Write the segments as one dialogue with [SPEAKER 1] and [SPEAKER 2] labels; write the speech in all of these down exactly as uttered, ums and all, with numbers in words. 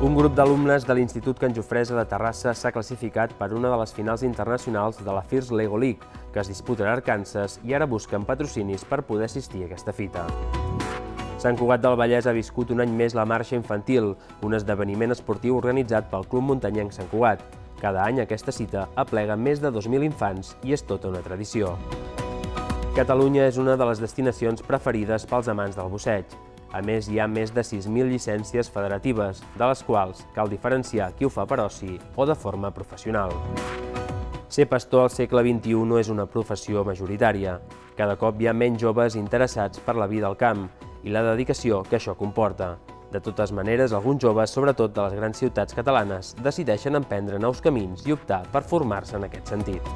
[SPEAKER 1] Un grup d'alumnes de l'Institut Can Jofresa de Terrassa s'ha classificat per una de les finals internacionals de la First Lego League, que es disputarà a Arkansas, i ara busquen patrocinis per poder assistir a aquesta fita. Sant Cugat del Vallès ha viscut un any més la marxa infantil, un esdeveniment esportiu organitzat pel Club Muntanyenc Sant Cugat. Cada any aquesta cita aplega més de dos mil infants i és tota una tradició. Catalunya és una de les destinacions preferides pels amants del busseig. A més, hi ha més de sis mil llicències federatives, de les quals cal diferenciar qui ho fa per oci o de forma professional. Ser pastor al segle vint-i-u no és una professió majoritària. Cada cop hi ha menys joves interessats per la vida al camp i la dedicació que això comporta. De totes maneres, alguns joves, sobretot de les grans ciutats catalanes, decideixen emprendre nous camins i optar per formar-se en aquest sentit.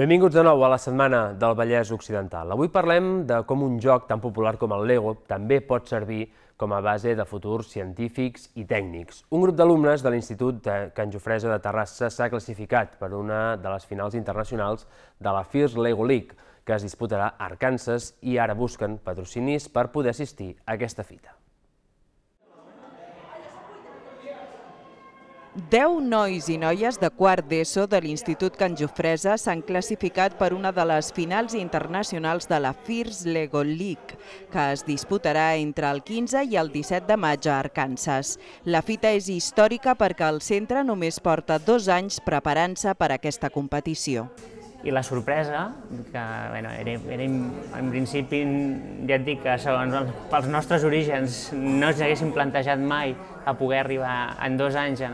[SPEAKER 1] Benvinguts de nou a la Setmana del Vallès Occidental. Avui parlem de com un joc tan popular com el Lego també pot servir com a base de futurs científics i tècnics. Un grup d'alumnes de l'Institut Can Jofresa de Terrassa s'ha classificat per una de les finals internacionals de la First Lego League, que es disputarà a Arkansas, i ara busquen patrocinis per poder assistir a aquesta fita.
[SPEAKER 2] Deu nois i noies de quart d'ESO de l'Institut Can Jofresa s'han classificat per una de les finals internacionals de la First Lego League, que es disputarà entre el quinze i el disset de maig a Arkansas. La fita és històrica perquè el centre només porta dos anys preparant-se per a aquesta competició.
[SPEAKER 3] I la sorpresa, que bueno, era, era, en principi ja et dic que segons pels nostres orígens no ens haguéssim plantejat mai a poder arribar en dos anys a,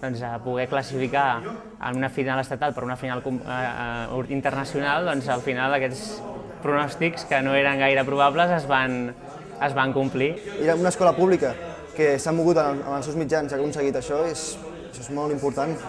[SPEAKER 3] doncs, a poder classificar en una final estatal per una final uh, internacional, doncs al final aquests pronòstics que no eren gaire probables es van, es van complir.
[SPEAKER 4] Era una escola pública que s'ha mogut amb els seus mitjans i ha aconseguit això, és, això és molt important.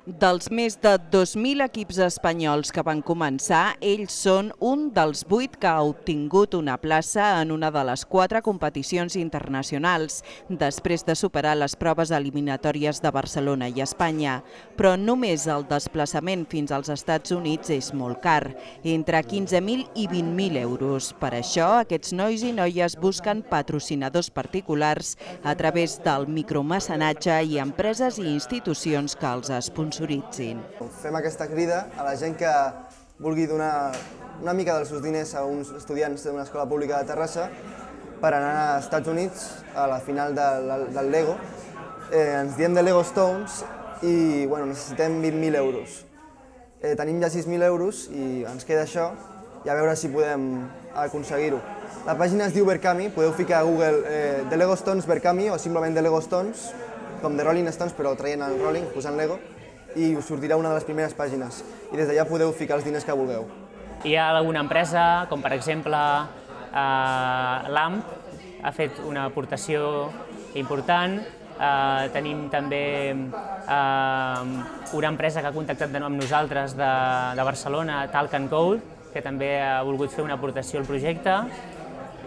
[SPEAKER 2] Dels més de dos mil equips espanyols que van començar, ells són un dels vuit que ha obtingut una plaça en una de les quatre competicions internacionals, després de superar les proves eliminatòries de Barcelona i Espanya. Però només el desplaçament fins als Estats Units és molt car, entre quinze mil i vint mil euros. Per això, aquests nois i noies busquen patrocinadors particulars a través del micromecenatge i empreses i institucions que els sponsoritzen.
[SPEAKER 4] Fem aquesta crida a la gent que vulgui donar una mica dels seus diners a uns estudiants d'una escola pública de Terrassa per anar als Estats Units a la final del Lego. Ens diem de Lego Stones i necessitem vint mil euros. Tenim ja sis mil euros i ens queda això i a veure si podem aconseguir-ho. La pàgina es diu Berkami, podeu ficar a Google The Lego Stones Berkami o simplement The Lego Stones, com The Rolling Stones però traient el Rolling, posant Lego, i us sortirà una de les primeres pàgines i des d'allà podeu ficar els diners que vulgueu.
[SPEAKER 3] Hi ha alguna empresa, com per exemple l'A M P, ha fet una aportació important. Tenim també una empresa que ha contactat amb nosaltres de Barcelona, Talk and Code, que també ha volgut fer una aportació al projecte.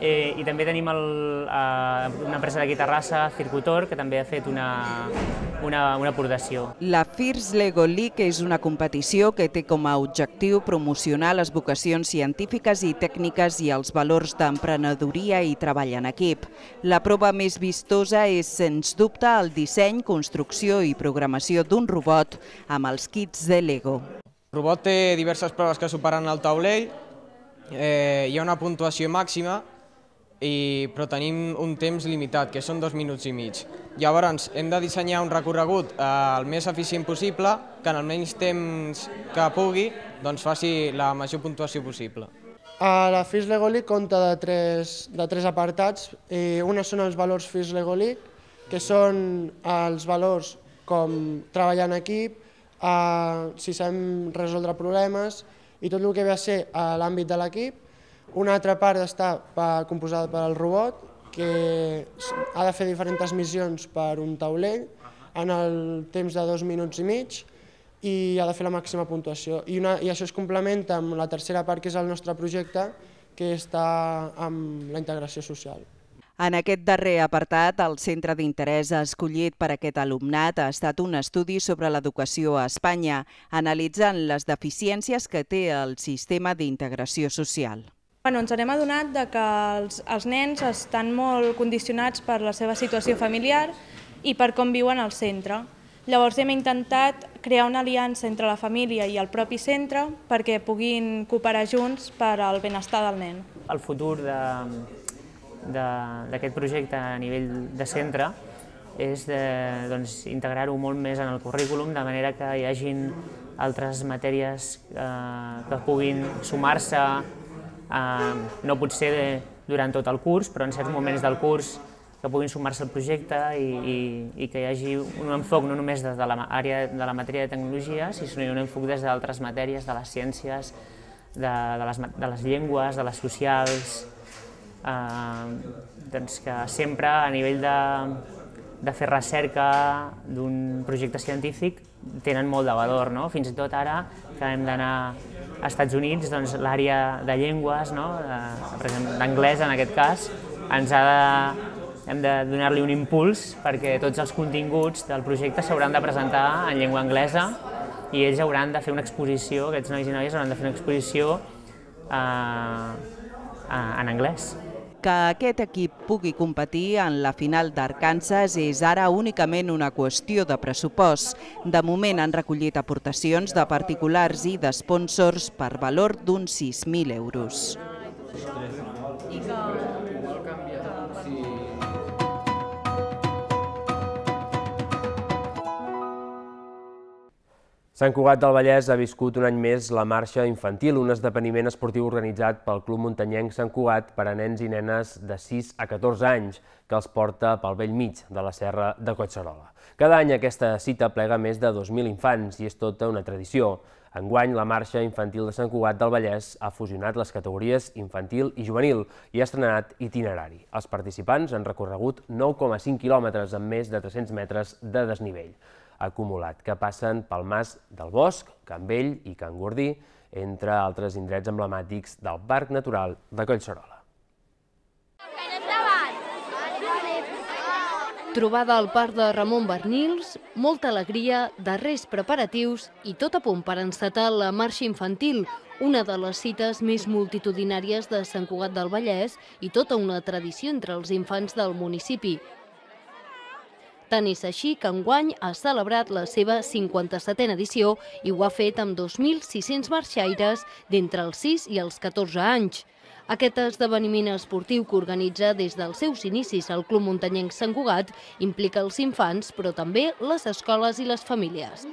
[SPEAKER 3] I també tenim una empresa d'aquí a Terrassa, Circutor, que també ha fet una aportació.
[SPEAKER 2] La First Lego League és una competició que té com a objectiu promocionar les vocacions científiques i tècniques i els valors d'emprenedoria i treball en equip. La prova més vistosa és, sens dubte, el disseny, construcció i programació d'un robot amb els kits de Lego.
[SPEAKER 5] El robot té diverses proves que superen el taulell, hi ha una puntuació màxima, però tenim un temps limitat, que són dos minuts i mig. Llavors hem de dissenyar un recorregut el més eficient possible, que en el menys temps que pugui faci la major puntuació possible.
[SPEAKER 6] La First Lego League compta de tres apartats. Un són els valors First Lego League, que són els valors com treballar en equip, si sabem resoldre problemes i tot el que ve a ser a l'àmbit de l'equip. Una altra part està composada per al robot, que ha de fer diferents missions per un taulell en el temps de dos minuts i mig i ha de fer la màxima puntuació. I això es complementa amb la tercera part, que és el nostre projecte, que està amb la integració social.
[SPEAKER 2] En aquest darrer apartat, el centre d'interès escollit per aquest alumnat ha estat un estudi sobre l'educació a Espanya, analitzant les deficiències que té el sistema d'integració social.
[SPEAKER 7] Bueno, ens hem adonat que els, els nens estan molt condicionats per la seva situació familiar i per com viuen al centre. Llavors hem intentat crear una aliança entre la família i el propi centre perquè puguin cooperar junts per al benestar del nen.
[SPEAKER 3] El futur de d'aquest projecte a nivell de centre és doncs, integrar-ho molt més en el currículum, de manera que hi hagin altres matèries eh, que puguin sumar-se, eh, no potser durant tot el curs, però en certs moments del curs que puguin sumar-se al projecte i, i, i que hi hagi un enfoc no només des de l'àrea de la matèria de tecnologia, sinó un enfoc des d'altres matèries, de les ciències, de, de, les, de les llengües, de les socials, Eh, doncs que sempre a nivell de, de fer recerca d'un projecte científic tenen molt de valor, no? Fins i tot ara que hem d'anar als Estats Units, doncs l'àrea de llengües, no? de, per exemple d'anglès en aquest cas, ens ha de, hem de donar-li un impuls perquè tots els continguts del projecte s'hauran de presentar en llengua anglesa i ells hauran de fer una exposició, aquests nois i noies hauran de fer una exposició eh, en anglès.
[SPEAKER 2] Que aquest equip pugui competir en la final d'Arkansas és ara únicament una qüestió de pressupost. De moment han recollit aportacions de particulars i d'espònsors per valor d'uns sis mil euros.
[SPEAKER 1] Sant Cugat del Vallès ha viscut un any més la marxa infantil, un esdeveniment esportiu organitzat pel Club Muntanyenc Sant Cugat per a nens i nenes de sis a catorze anys, que els porta pel bell mig de la serra de Collserola. Cada any aquesta cita plega més de dos mil infants i és tota una tradició. Enguany, la marxa infantil de Sant Cugat del Vallès ha fusionat les categories infantil i juvenil i ha estrenat itinerari. Els participants han recorregut nou coma cinc quilòmetres amb més de tres-cents metres de desnivell acumulat, que passen pel Mas del Bosc, Can Vell i Can Gordí, entre altres indrets emblemàtics del Parc Natural de Collserola.
[SPEAKER 8] Trobada al Parc de Ramon Barnils, molta alegria, darrers preparatius i tot a punt per encetar la marxa infantil, una de les cites més multitudinàries de Sant Cugat del Vallès i tota una tradició entre els infants del municipi. Tant és així que enguany ha celebrat la seva cinquanta-setena edició i ho ha fet amb dos mil sis-cents marxaires d'entre els sis i els catorze anys. Aquest esdeveniment esportiu que organitza des dels seus inicis al Club Muntanyenc Sant Cugat implica els infants, però també les escoles i les famílies.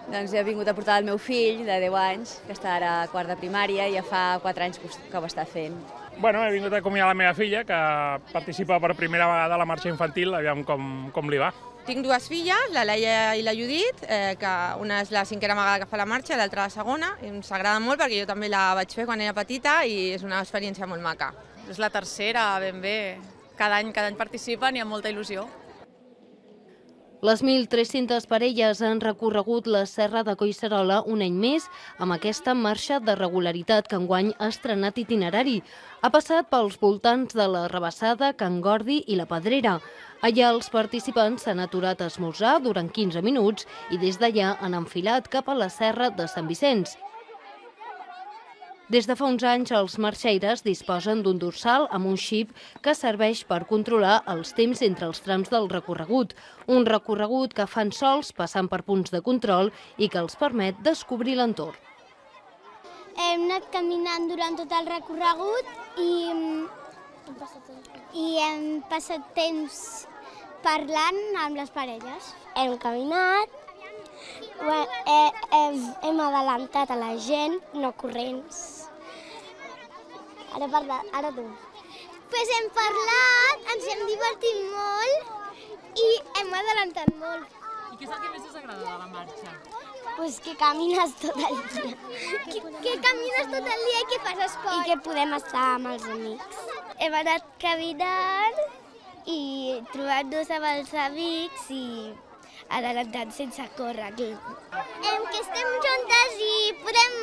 [SPEAKER 9] Doncs he vingut a portar el meu fill, de deu anys, que està ara a quart de primària i ja fa quatre anys que ho està fent.
[SPEAKER 10] Bueno, he vingut a acomiadar la meva filla, que participa per primera vegada a la marxa infantil, aviam com, com li va.
[SPEAKER 11] Tinc dues filles, la Laia i la Judit, eh, que una és la cinquena vegada que fa la marxa, l'altra la segona, i ens agrada molt perquè jo també la vaig fer quan era petita i és una experiència molt maca.
[SPEAKER 12] És la tercera, ben bé. Cada any, cada any participen i amb molta il·lusió.
[SPEAKER 8] Les mil tres-centes parelles han recorregut la serra de Collserola un any més amb aquesta marxa de regularitat que enguany ha estrenat itinerari. Ha passat pels voltants de la Rabassada, Can Gordi i la Pedrera. Allà els participants s'han aturat a esmorzar durant quinze minuts i des d'allà han enfilat cap a la serra de Sant Vicenç. Des de fa uns anys, els marxaires disposen d'un dorsal amb un xip que serveix per controlar els temps entre els trams del recorregut. Un recorregut que fan sols passant per punts de control i que els permet descobrir l'entorn.
[SPEAKER 13] Hem anat caminant durant tot el recorregut i, i hem passat temps parlant amb les parelles. Hem caminat, hem, hem adelantat a la gent, no corrents. Ara parla, ara tu. Pues hem parlat, ens hem divertit molt i hem adelantat molt.
[SPEAKER 12] I què és el que més us agrada de la marxa?
[SPEAKER 13] Pues que camines tot el dia. Que, que camines tot el dia i que fas esport. I que podem estar amb els amics. Hem anat caminant i trobant-nos amb els amics i adelantant sense córrer. Que estem juntes i podem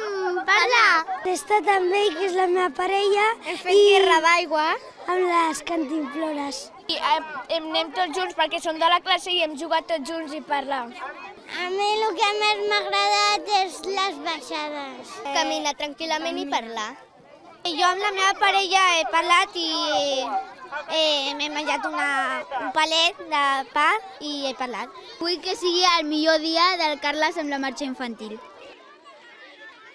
[SPEAKER 13] parlar.
[SPEAKER 14] He estat amb ell, que és la meva parella.
[SPEAKER 13] Hem fet guerra d'aigua.
[SPEAKER 14] Amb les cantimplores.
[SPEAKER 13] I anem tots junts perquè som de la classe i hem jugat tots junts i parlar. A mi el que més m'ha agradat és les baixades. Caminar tranquil·lament i parlar. Jo amb la meva parella he parlat i m'he menjat un palet de pa i he parlat.
[SPEAKER 14] Vull que sigui el millor dia del Carles amb la marxa infantil.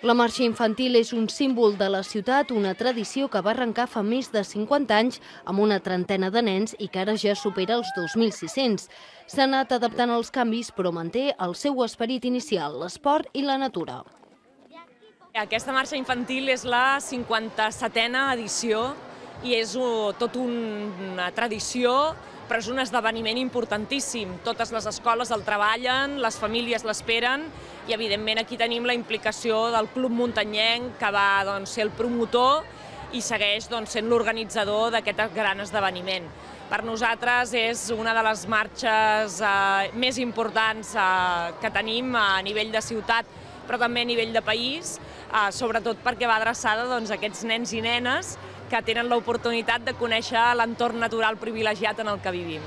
[SPEAKER 8] La marxa infantil és un símbol de la ciutat, una tradició que va arrencar fa més de cinquanta anys amb una trentena de nens i que ara ja supera els dos mil sis-cents. S'ha anat adaptant als canvis, però manté el seu esperit inicial, l'esport i la natura.
[SPEAKER 15] Aquesta marxa infantil és la cinquanta-setena edició i és tot una tradició, però és un esdeveniment importantíssim. Totes les escoles el treballen, les famílies l'esperen i, evidentment, aquí tenim la implicació del Club Muntanyenc, que va ser el promotor i segueix sent l'organitzador d'aquest gran esdeveniment. Per nosaltres és una de les marxes més importants que tenim a nivell de ciutat, però també a nivell de país, sobretot perquè va adreçada a aquests nens i nenes que tenen l'oportunitat de conèixer l'entorn natural privilegiat en el que vivim.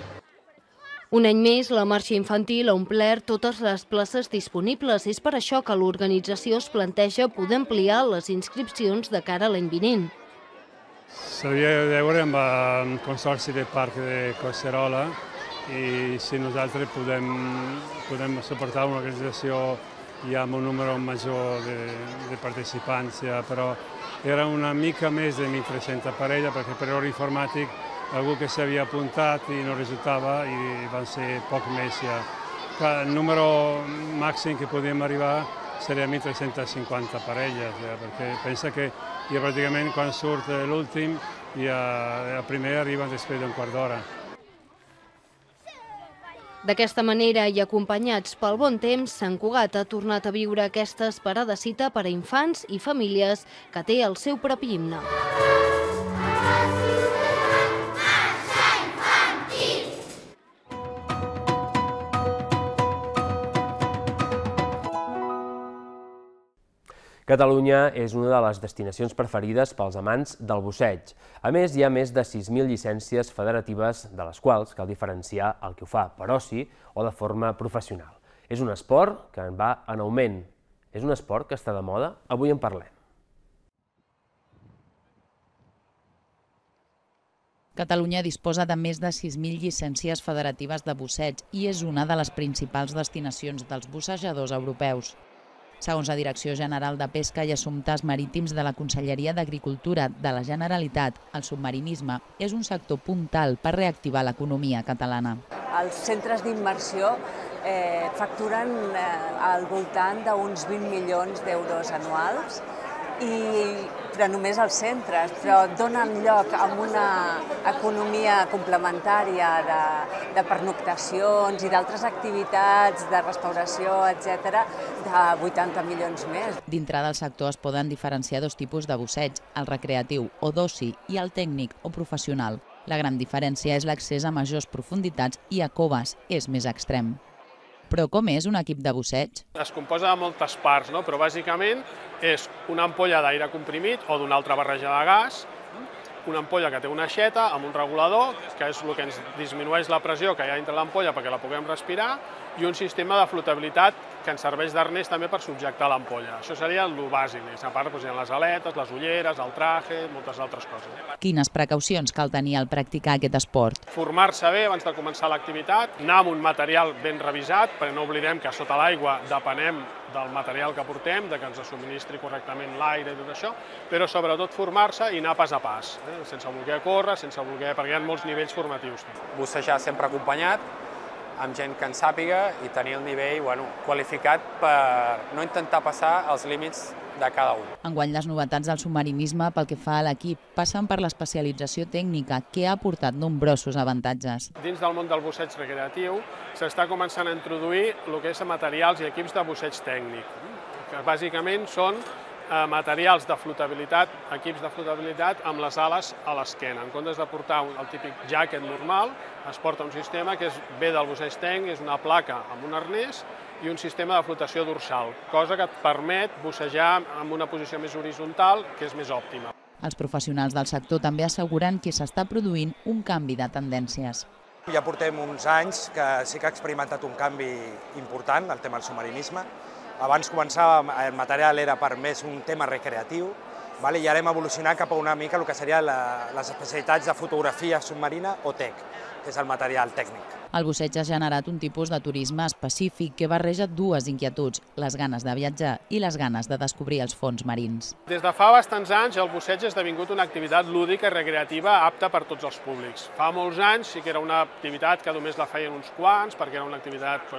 [SPEAKER 8] Un any més, la marxa infantil ha omplert totes les places disponibles. És per això que l'organització es planteja poder ampliar les inscripcions de cara a l'any vinent.
[SPEAKER 16] S'hauria de veure amb el Consorci del Parc de Collserola i si nosaltres podem, podem suportar una organització ja amb un número major de, de participants, ja, però era una mica més de mil tres-centes parelles perquè per l'hora informàtic algú que s'havia apuntat i no resultava i van ser poc més ja. El número màxim que podíem arribar seria mil tres-centes cinquanta parelles, ja, perquè pensa que ja pràcticament quan surt l'últim ja el primer arriba després d'un quart d'hora.
[SPEAKER 8] D'aquesta manera i acompanyats pel bon temps, Sant Cugat ha tornat a viure aquesta esperada cita per a infants i famílies que té el seu propi himne.
[SPEAKER 1] Catalunya és una de les destinacions preferides pels amants del busseig. A més, hi ha més de sis mil llicències federatives, de les quals cal diferenciar el que ho fa per oci o de forma professional. És un esport que va en augment. És un esport que està de moda? Avui en parlem.
[SPEAKER 2] Catalunya disposa de més de sis mil llicències federatives de busseig i és una de les principals destinacions dels bussejadors europeus. Segons la Direcció General de Pesca i Assumptes Marítims de la Conselleria d'Agricultura de la Generalitat, el submarinisme és un sector puntal per reactivar l'economia catalana.
[SPEAKER 17] Els centres d'immersió eh, facturen eh, al voltant d'uns vint milions d'euros anuals, i, però només als centres, però donen lloc a una economia complementària de, de pernoctacions i d'altres activitats de restauració, etcètera, de vuitanta milions més.
[SPEAKER 2] Dintre del sector es poden diferenciar dos tipus de busseig, el recreatiu o d'oci i el tècnic o professional. La gran diferència és l'accés a majors profunditats i a coves, és més extrem. Però com és un equip de busseig?
[SPEAKER 18] Es composa de moltes parts, no? Però bàsicament és una ampolla d'aire comprimit o d'una altra barreja de gas, una ampolla que té una aixeta amb un regulador, que és el que ens disminueix la pressió que hi ha dintre l'ampolla perquè la puguem respirar, i un sistema de flotabilitat que ens serveix d'arnès també per subjectar l'ampolla. Això seria el bàsic. A part hi ha les aletes, les ulleres, el traje, moltes altres coses.
[SPEAKER 2] Quines precaucions cal tenir al practicar aquest esport?
[SPEAKER 18] Formar-se bé abans de començar l'activitat, anar amb un material ben revisat, perquè no oblidem que sota l'aigua depenem del material que portem, de que ens subministri correctament l'aire i tot això, però sobretot formar-se i anar pas a pas, eh? sense voler córrer, sense voler, perquè hi ha molts nivells formatius.
[SPEAKER 19] Bussejar sempre acompanyat, amb gent que en sàpiga i tenir el nivell bueno, qualificat per no intentar passar els límits de cada un.
[SPEAKER 2] Enguany les novetats del submarinisme pel que fa a l'equip passen per l'especialització tècnica, que ha aportat nombrosos avantatges.
[SPEAKER 18] Dins del món del busseig recreatiu s'està començant a introduir el que és materials i equips de busseig tècnic, que bàsicament són materials de flotabilitat, equips de flotabilitat amb les ales a l'esquena. En comptes de portar el típic jacket normal, es porta un sistema que ve del busseig tècnic, és una placa amb un arnès i un sistema de flotació dorsal, cosa que et permet bussejar en una posició més horitzontal, que és més òptima.
[SPEAKER 2] Els professionals del sector també asseguren que s'està produint un canvi de tendències.
[SPEAKER 20] Ja portem uns anys que sí que ha experimentat un canvi important, el tema del submarinisme. Abans començava, el material era per més un tema recreatiu, i ara hem evolucionat cap a una mica el que serien les especialitats de fotografia submarina o tec, que és el material tècnic.
[SPEAKER 2] El busseig ha generat un tipus de turisme específic que barreja dues inquietuds, les ganes de viatjar i les ganes de descobrir els fons marins.
[SPEAKER 18] Des de fa bastants anys el busseig ha esdevingut una activitat lúdica i recreativa apta per tots els públics. Fa molts anys sí que era una activitat que només la feien uns quants, perquè era una activitat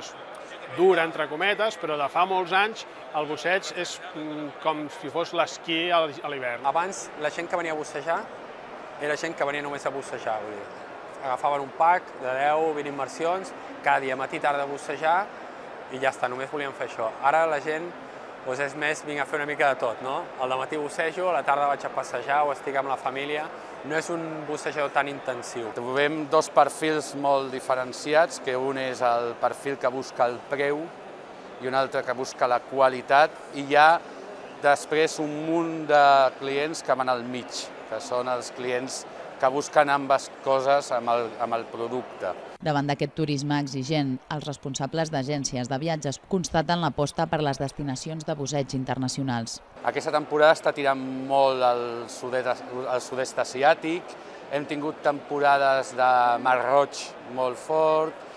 [SPEAKER 18] dura, entre cometes, però de fa molts anys el busseig és com si fos l'esquí a l'hivern.
[SPEAKER 19] Abans la gent que venia a bussejar era gent que venia només a bussejar, vull dir, agafaven un pack de deu vint immersions, cada dia matí tarda a bussejar i ja està, només volien fer això. Ara la gent és més, vinc a fer una mica de tot, no? Al dematí bussejo, a la tarda vaig a passejar o estic amb la família. No és un bussejador tan intensiu.
[SPEAKER 21] Trobem dos perfils molt diferenciats, que un és el perfil que busca el preu i un altre que busca la qualitat, i hi ha després un munt de clients que van al mig, que són els clients que busquen ambes coses amb el, amb el producte.
[SPEAKER 2] Davant d'aquest turisme exigent, els responsables d'agències de viatges constaten l'aposta per les destinacions de busseig internacionals.
[SPEAKER 21] Aquesta temporada està tirant molt al sud-est asiàtic, hem tingut temporades de Mar Roig molt fort,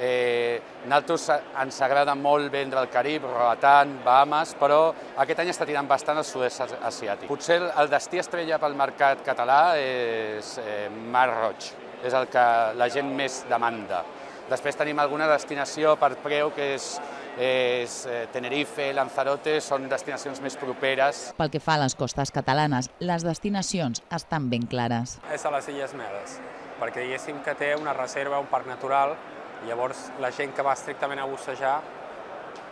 [SPEAKER 21] eh, nosaltres ens agrada molt vendre el Carib, Roatan, Bahamas, però aquest any està tirant bastant al sud-est asiàtic. Potser el destí estrella pel mercat català és eh, Mar Roig, és el que la gent més demanda. Després tenim alguna destinació per preu que és, és Tenerife, Lanzarote, són destinacions més properes.
[SPEAKER 2] Pel que fa a les costes catalanes, les destinacions estan ben clares.
[SPEAKER 19] És a les Illes Medes, perquè diguéssim que té una reserva, un parc natural, i llavors la gent que va estrictament a bussejar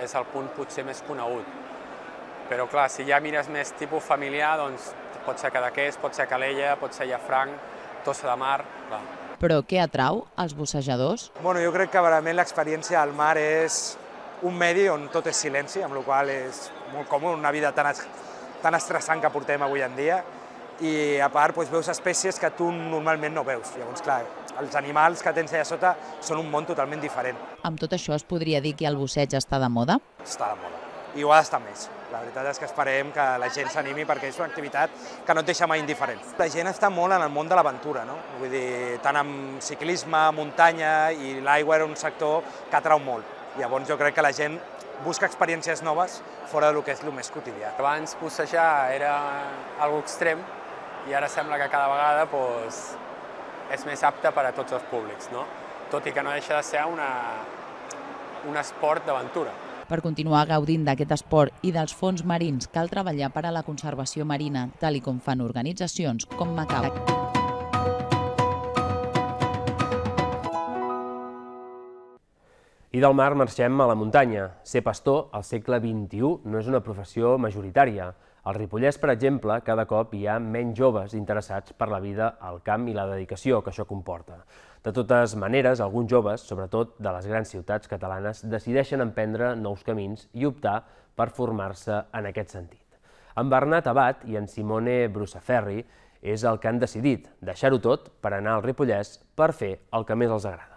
[SPEAKER 19] és el punt potser més conegut. Però clar, si ja mires més tipus familiar, doncs pot ser Cadaqués, pot ser Calella, pot ser Llafranc, Tossa de Mar, clar.
[SPEAKER 2] Però què atrau als bussejadors?
[SPEAKER 20] Bueno, jo crec que realment l'experiència al mar és un medi on tot és silenci, amb la qual cosa és molt còmode, una vida tan, tan estressant que portem avui en dia, i a part doncs, veus espècies que tu normalment no veus. Llavors, clar, els animals que tens allà sota són un món totalment diferent.
[SPEAKER 2] Amb tot això es podria dir que el busseig està de moda?
[SPEAKER 20] Està de moda, i ho ha d'estar més. La veritat és que esperem que la gent s'animi perquè és una activitat que no et deixa mai indiferent. La gent està molt en el món de l'aventura, no? Vull dir, tant amb ciclisme, muntanya, i l'aigua era un sector que atrau molt. Llavors jo crec que la gent busca experiències noves fora del que és el més quotidià.
[SPEAKER 19] Abans bussejar era algo extrem i ara sembla que cada vegada doncs, és més apte per a tots els públics, no? Tot i que no deixa de ser una, un esport d'aventura.
[SPEAKER 2] Per continuar gaudint d'aquest esport i dels fons marins cal treballar per a la conservació marina, tal i com fan organitzacions com Macau.
[SPEAKER 1] I del mar marxem a la muntanya. Ser pastor al segle vint-i-u no és una professió majoritària. Al Ripollès, per exemple, cada cop hi ha menys joves interessats per la vida al camp i la dedicació que això comporta. De totes maneres, alguns joves, sobretot de les grans ciutats catalanes, decideixen emprendre nous camins i optar per formar-se en aquest sentit. En Bernat Abat i en Simone Brusaferri és el que han decidit deixar-ho tot per anar al Ripollès per fer el que més els agrada.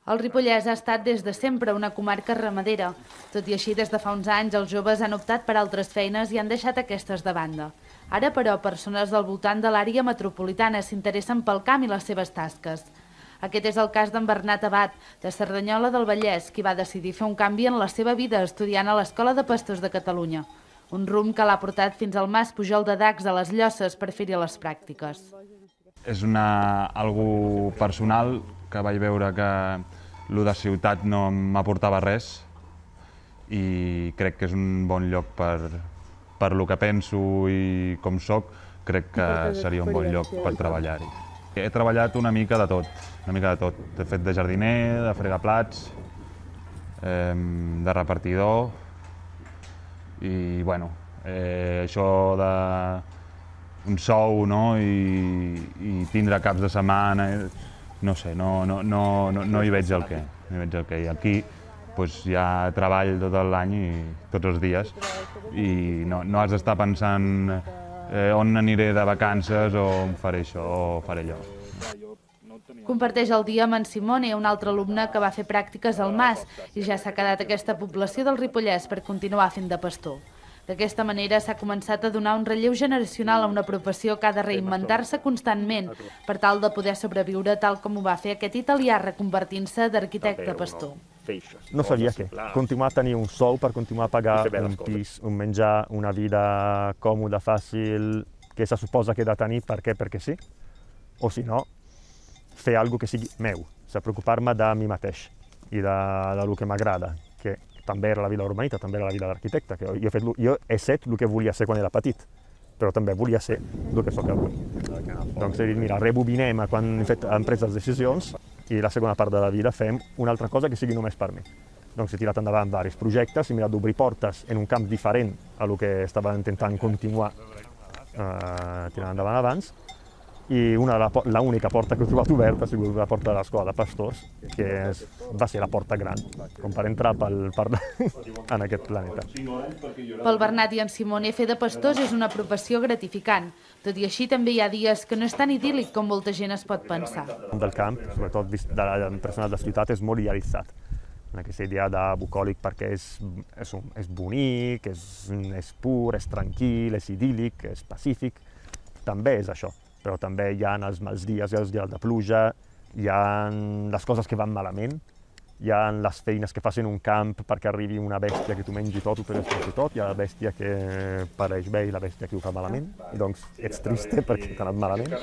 [SPEAKER 22] El Ripollès ha estat des de sempre una comarca ramadera. Tot i així, des de fa uns anys, els joves han optat per altres feines i han deixat aquestes de banda. Ara, però, persones del voltant de l'àrea metropolitana s'interessen pel camp i les seves tasques. Aquest és el cas d'en Bernat Abat, de Cerdanyola del Vallès, qui va decidir fer un canvi en la seva vida estudiant a l'Escola de Pastors de Catalunya. Un rumb que l'ha portat fins al Mas Pujol de Dacs a les Llosses per fer-hi les pràctiques.
[SPEAKER 23] És una, algo personal que vaig veure que el de ciutat no m'aportava res i crec que és un bon lloc per, per lo que penso i com soc, crec que seria un bon lloc per treballar-hi. He treballat una mica de tot, una mica de tot. He fet de jardiner, de fregar plats, eh, de repartidor i bueno, eh, això de un sou, no?, i, i tindre caps de setmana, no sé, no, no, no, no, no hi veig el què, no hi veig el què. I aquí pues, hi ha treball tot l'any i tots els dies i no, no has d'estar pensant eh, on aniré de vacances o on faré això o faré allò.
[SPEAKER 22] Comparteix el dia amb en Simone, un altre alumne que va fer pràctiques al Mas i ja s'ha quedat a aquesta població del Ripollès per continuar fent de pastor. D'aquesta manera s'ha començat a donar un relleu generacional a una professió que ha de reinventar-se constantment per tal de poder sobreviure tal com ho va fer aquest italià reconvertint-se d'arquitecte pastor.
[SPEAKER 4] No sabia què, continuar a tenir un sou per continuar a pagar un pis, un menjar, una vida còmoda, fàcil, que se suposa que he de tenir per què, perquè sí, o si no, fer alguna cosa que sigui meu, preocupar-me de mi mateix i de, de lo que m'agrada, que també era la vida urbanita, també era la vida d'arquitecte, que jo he, fet, jo he set el que volia ser quan era petit, però també volia ser el que sóc avui. Doncs he dit, mira, rebobinem quan he, fet, hem pres les decisions i la segona part de la vida fem una altra cosa que sigui només per mi. Doncs he tirat endavant diversos projectes, he mirat d'obrir portes en un camp diferent a lo que estava intentant continuar eh, tirant endavant abans, i l'única porta que he trobat oberta ha sigut la porta de l'escola de pastors, que és, va ser la porta gran, com per entrar pel, per, en aquest planeta.
[SPEAKER 22] Pel Bernat i en Simone, fer de pastors és una professió gratificant. Tot i així, també hi ha dies que no és tan idíl·lic com molta gent es pot pensar.
[SPEAKER 4] El camp, sobretot de persones de ciutat, és molt idealitzat. Aquesta idea de bucòlic perquè és, és, és bonic, és, és pur, és tranquil, és idíl·lic, és pacífic. També és això. Però també hi ha els mals dies, hi ha els dies de pluja, hi ha les coses que van malament, hi ha les feines que fas en un camp perquè arribi una bèstia que t'ho mengi tot, ho destroci tot, hi ha la bèstia que pareix bé i la bèstia que ho fa malament, i doncs ets triste perquè t'ha anat malament.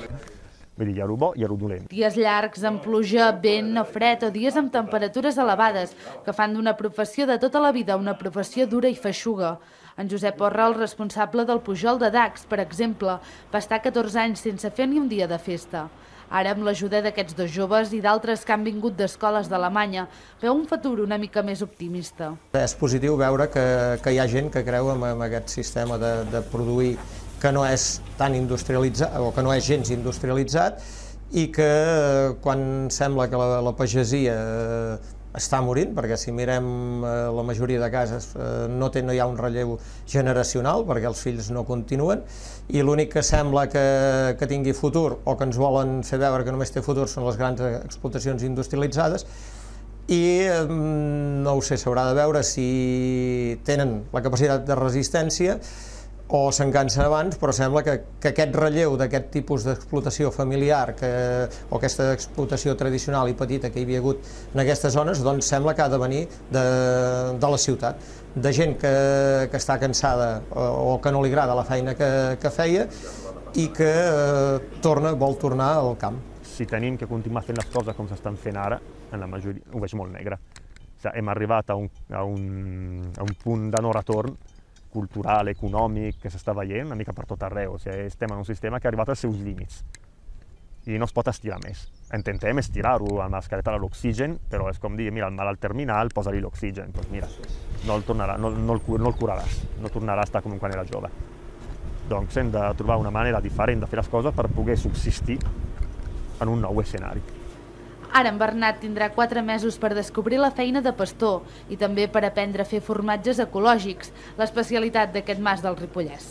[SPEAKER 4] Vull dir, hi ha el bo i hi ha el dolent.
[SPEAKER 22] Dies llargs amb pluja, vent o fred o dies amb temperatures elevades que fan d'una professió de tota la vida una professió dura i feixuga. En Josep Orra, el responsable del Pujol de Dax, per exemple, va estar catorze anys sense fer ni un dia de festa. Ara, amb l'ajuda d'aquests dos joves i d'altres que han vingut d'escoles d'Alemanya, veu un futur una mica més optimista.
[SPEAKER 5] És positiu veure que, que hi ha gent que creu en, en aquest sistema de, de produir que no és tan industrialitzat, o que no és gens industrialitzat, i que quan sembla que la, la pagesia està morint, perquè si mirem la majoria de cases no, té, no hi ha un relleu generacional perquè els fills no continuen i l'únic que sembla que, que tingui futur o que ens volen fer veure que només té futur són les grans explotacions industrialitzades i no ho sé, s'haurà de veure si tenen la capacitat de resistència o s'engansen abans, però sembla que, que aquest relleu d'aquest tipus d'explotació familiar que, o aquesta explotació tradicional i petita que hi havia hagut en aquestes zones, doncs sembla que ha de venir de, de la ciutat, de gent que, que està cansada o, o que no li agrada la feina que, que feia i que eh, torna, vol tornar al camp.
[SPEAKER 4] Si tenim que continuar fent les coses com s'estan fent ara, en la majoria ho veig molt negre. O sigui, hem arribat a un, a un, a un punt de no retorn cultural, econòmic, que s'està veient una mica per tot arreu. O sigui, estem en un sistema que ha arribat als seus límits i no es pot estirar més. Intentem estirar-ho amb mascareta a l'oxigen, però és com dir, mira, el malalt terminal, posa-li l'oxigen. Doncs mira, no el, tornarà, no, no, el, no el curaràs, no tornarà a estar com quan era jove. Doncs hem de trobar una manera diferent de fer les coses per poder subsistir en un nou escenari.
[SPEAKER 22] Ara en Bernat tindrà quatre mesos per descobrir la feina de pastor i també per aprendre a fer formatges ecològics, l'especialitat d'aquest mas del Ripollès.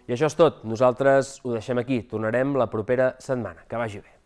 [SPEAKER 1] I això és tot. Nosaltres ho deixem aquí. Tornarem la propera setmana. Que vagi bé.